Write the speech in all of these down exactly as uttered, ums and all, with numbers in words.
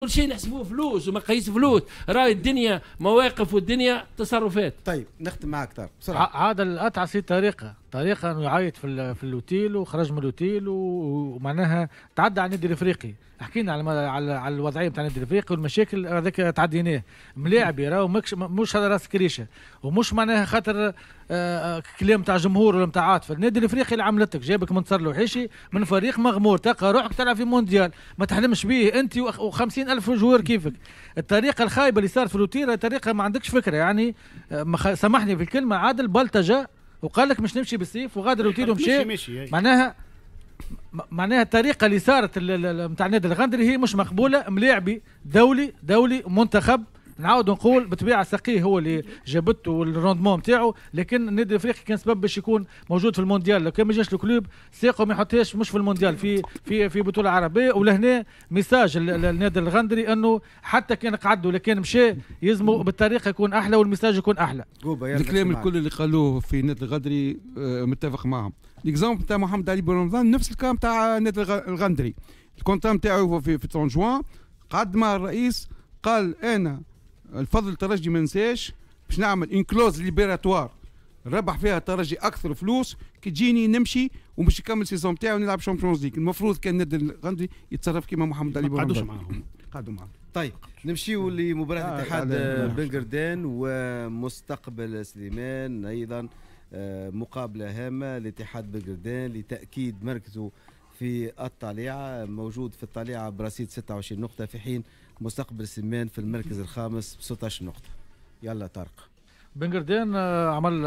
كل شيء نحسبوه فلوس ومقاييس فلوس، راهي الدنيا مواقف والدنيا تصرفات. طيب نختم معك طارق بسرعة. عاد الاتعس طريقه، طريقه انه يعيط في في الاوتيل وخرج من الاوتيل ومعناها تعدى على النادي الافريقي، حكينا على على, على الوضعية نتاع النادي الافريقي والمشاكل هذاك تعديناه، ملاعبي راهو مش على راس كريشه ومش معناها خاطر آه كلام تاع جمهور ولا نتاع عاطفة، النادي الافريقي اللي عملتك جابك منتصر الوحيشي من فريق مغمور، تلقى روحك تلعب في مونديال ما تحلمش به انت وخمسين ألف joueur كيفك. الطريقة الخايبة اللي صارت في الاوتيل طريقه ما عندكش فكرة، يعني سامحني في الكلمة، عادل بلطجه وقال لك مش نمشي بالسيف وغادر الاوتيل ومشي، معناها معناها الطريقة اللي صارت نتاع النادي الغندري هي مش مقبولة. ملاعبي دولي دولي منتخب، نعاود نقول بالطبيعة سقيه هو اللي جابته وال rendement نتاعو، لكن النادي الافريقي كان سبب باش يكون موجود في المونديال، لو كان ما جاش ال club ساقه ما يحطهاش مش في المونديال في في في بطوله عربية. ولهنا message للنادي الغندري انه حتى كان قعد ولا كان مشى يلزموا بالطريقة يكون احلى وال message يكون احلى. الكلام الكل اللي قالوه في النادي الغندري متفق معهم. l'exemple تاع محمد علي بن رمضان نفس الكلام تاع النادي الغندري، ال contrat نتاعو في في ثلاثين جوان قعد مع الرئيس قال انا الفضل الترجي ما ننساش باش نعمل une clause libératoire ربح فيها الترجي اكثر فلوس كي تجيني نمشي ومش نكمل saison تاعي ونلعب Champions League. المفروض كان النادي الغندري يتصرف كيما محمد علي بن رمضان. قعدوش معاهم، قعدوا معاهم. طيب نمشيو لمباراة آه اتحاد بن قردان ومستقبل سليمان، ايضا مقابله هامة لاتحاد بن قردان لتاكيد مركزه في الطليعة، موجود في الطليعة برصيد ستة وعشرين نقطة في حين مستقبل سليمان في المركز الخامس ب ستة عشر نقطة. يلا طارق. بن قردان عمل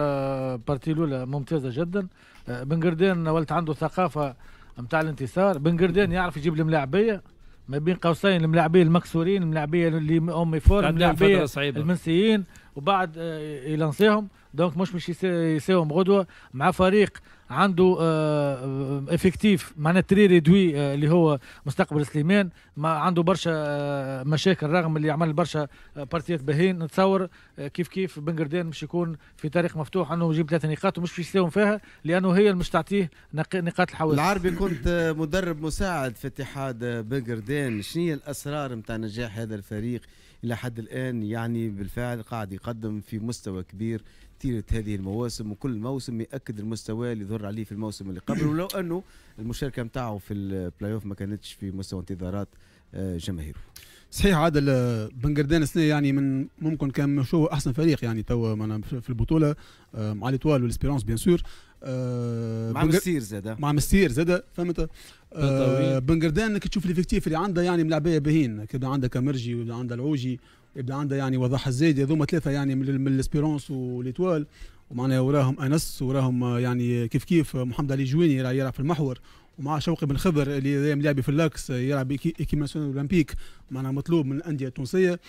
partie الاولى ممتازة جدا، بن قردان ولت عنده ثقافة نتاع الانتصار، بن قردان يعرف يجيب الملاعبيه ما بين قوسين الملاعبيه المكسورين، الملاعبيه اللي en méforme، الملاعبيه المنسيين، وبعد يلانسيهم، donc مش مش يساوم غدوه مع فريق عنده effectif معناها très réduit اللي هو مستقبل سليمان، ما عنده برشا مشاكل رغم اللي عمل برشا بارتيات باهين. نتصور كيف كيف بن قردان مش يكون في طريق مفتوح انه يجيب ثلاث نقاط ومش باش يساوم فيها لانه هي اللي مش تعطيه نقاط الحوادث. العربي كنت مدرب مساعد في اتحاد بن قردان، شنو هي الاسرار نتاع نجاح هذا الفريق الى حد الان؟ يعني بالفعل قاعد يقدم في مستوى كبير طيلة هذه المواسم، وكل موسم يأكد المستوى اللي ظهر عليه في الموسم اللي قبل، ولو أنه المشاركة نتاعو في البلاي اوف ما كانتش في مستوى انتظارات جماهيره. صحيح عادل، بن قردان السنة يعني من ممكن كان مش هو أحسن فريق يعني توا في البطولة مع l'Étoile وال Espérance bien sûr، مع مستير زاده، مع مستير زاده فهمت. بن قردان كي تشوف l'effectif اللي عنده يعني ملاعبيه باهين، كيبدا عندها كامرجي ويبدا عندها العوجي يبدا عندها يعني وضح الزايد، هذوما ثلاثة يعني من ال Espérance و l'Étoile، ومعناها وراهم انس وراهم يعني كيف كيف محمد علي جويني يلعب في المحور، ومع شوقي بن خضر اللي لاعب في l'axe يلعب équipe nationale olympique، معناها مطلوب من الاندية التونسية،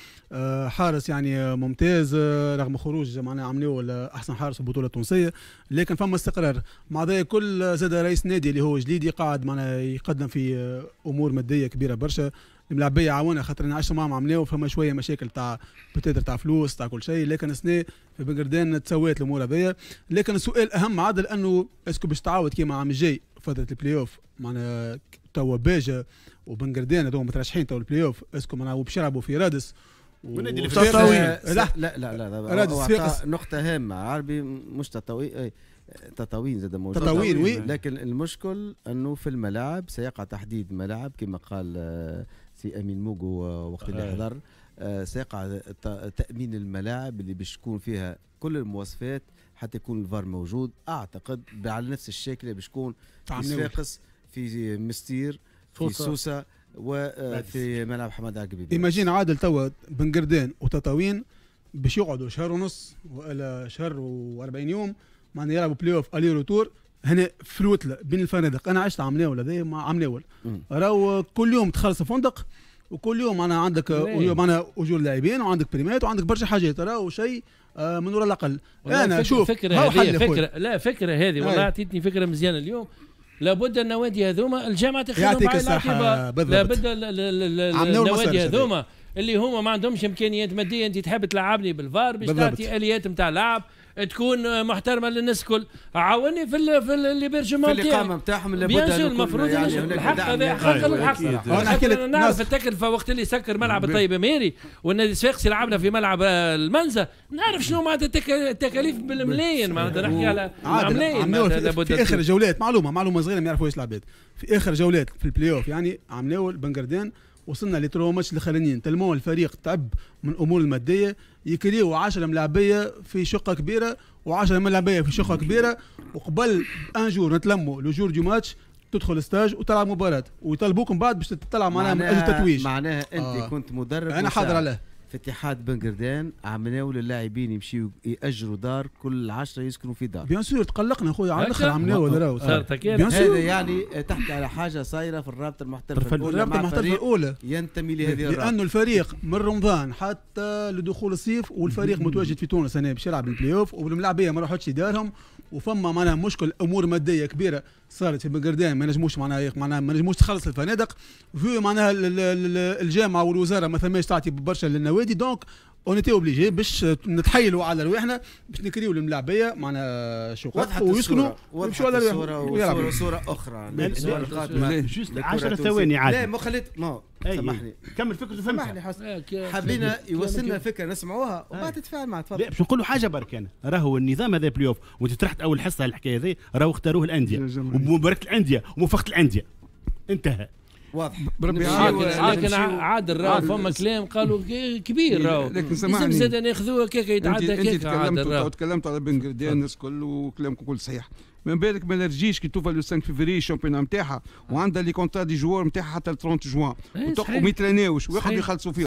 حارس يعني ممتاز رغم خروج معناها عملوه احسن حارس في البطولة التونسية، لكن فما استقرار. مع ذلك كل زاد رئيس نادي اللي هو جليدي قاعد معناها يقدم في امور مادية كبيرة برشا، الملاعبيه عاونها خاطر انا عشت معاهم عملناه فما شوية مشاكل تاع peut-être تاع فلوس تاع كل شيء، لكن السنة في بن قردان تسوات الامور هذيا. لكن السؤال الاهم عادل انه est-ce que باش تعاود كيما عام الجاي فترة البلاي اوف، معناها توا باجا وبن قردان هذوما مترشحين توا ال play-off، est-ce que معناها باش يلعبوا في رادس والنادي التطاوين. لا لا لا لا رادس نقطة هامة عربي، مش تطاوين، تطاوين زاد موجود، تطاوين oui، لكن المشكل انه في الملاعب سيقع تحديد ملاعب كما قال سي امين موغو وقت اللي حضر، سيقع تامين الملاعب اللي باش تكون فيها كل المواصفات حتى يكون الفار موجود، اعتقد على نفس الشكل باش يكون في صفاقس، في مستير، في سوسة، وفي ملعب حماد عقبي. imagine عادل توا بن قردان وتطاوين باش يقعدوا شهر ونص والا شهر وأربعين يوم معناها يلعبوا play-off aller-retour هنا في الوتله بين الفنادق. انا عشت عام ناول هذا مع عام ناول، راهو كل يوم تخلص الفندق وكل يوم معناها عندك معناها اجور لاعبين وعندك بريمات وعندك برشا حاجات، راهو شيء من وراء الاقل. انا شوف فكرة هذه فكرة لا فكرة هذه والله اعطيتني فكرة مزيانه اليوم. لابد النوادي هذوما الجامعة تاخذهم بعين الاعتبار، لابد النوادي هذوما اللي هما ما عندهمش امكانيات مادية، انت تحب تلعبني بالفار باش تعطي اليات نتاع لعب، تكون محترمه للناس الكل. عاوني في ال في l'hébergement في الاقامة نتاعهم لابد المفروض يعني الحق هذا حق الحق. انا نحكي لك نعرف التكلفة وقت اللي سكر ملعب الطيب ميري والنادي الصفاقسي لعبنا في ملعب المنزه، نعرف شنو معناتها التكاليف بالملايين، معناتها نحكي على ملايين. في اخر جولات معلومة معلومة صغيرة ما يعرفوهاش العباد، في اخر جولات في البلاي اوف يعني عملوا بنقردان وصلنا les trois matchs الاخرانيين tellement الفريق تعب من الامور المادية، يكريو عشرة ملاعبيه في شقه كبيرة وعشرة ملاعبيه في شقه كبيرة، وقبل un jour نتلموا le jour du match تدخل stage وتلعب مباراة ويطلبوكم بعد باش تلعب معناها من اجل التتويج. معناها انت آه. كنت مدرب، انا حاضر عليه في اتحاد بنقردان، عملناو للاعبين يمشيو ياجروا دار كل عشرة يسكنوا في دار. bien sûr تقلقنا خويا على الاخر عملناو راهو. هذا يعني تحكي على حاجة صايرة في الرابطة المحترفه الاولى، الرابطة المحترفه الاولى ينتمي لهذه الرابطة لانه الفريق من رمضان حتى لدخول الصيف والفريق متواجد في تونس هنا باش يلعب البلاي اوف والملاعبيه ما راحتش دارهم، وفما معناها مشكل امور مادية كبيرة صارت في بنقردان ما نجموش معناها معناها ما نجموش تخلص الفنادق في معناها الجامعة والوزارة ما ثماش تعطي برشا للنوادي، donc on était obligé باش نتحايلوا على رواحنا باش نكريو للملاعبيه معناها شقق ويسكنوا ويمشوا على رواحهم. صوره اخرى juste عشر ثواني عادي. لا ما خليت ما سامحني كمل فكرته سامحني حسن، حبينا يوصلنا الفكرة نسمعوها وبعد تتفاعل معها. تفضل. لا باش نقول له حاجة برك، انا راهو النظام هذا بلاي اوف وانت طرحت اول حصة الحكاية هذه راهو اختاروه الاندية ومباراه الاندية وموافقه الاندية انتهى. واضح. بربي لكن عادل راهو فما كلام قالوا كبير راهو، لكن سامحني لازم زاد ناخذوه كيك يتعدى كيك. عادل تكلمت على بن قردان الناس الكل وكلامكم كل صحيح، من بالك ما نرجيش كي توفى le خمسة فيفري ال championnat نتاعها وعندها les contrats des joueurs نتاعها حتى ثلاثين جوان وما يتراناوش ويقعدوا يخلصوا فيهم.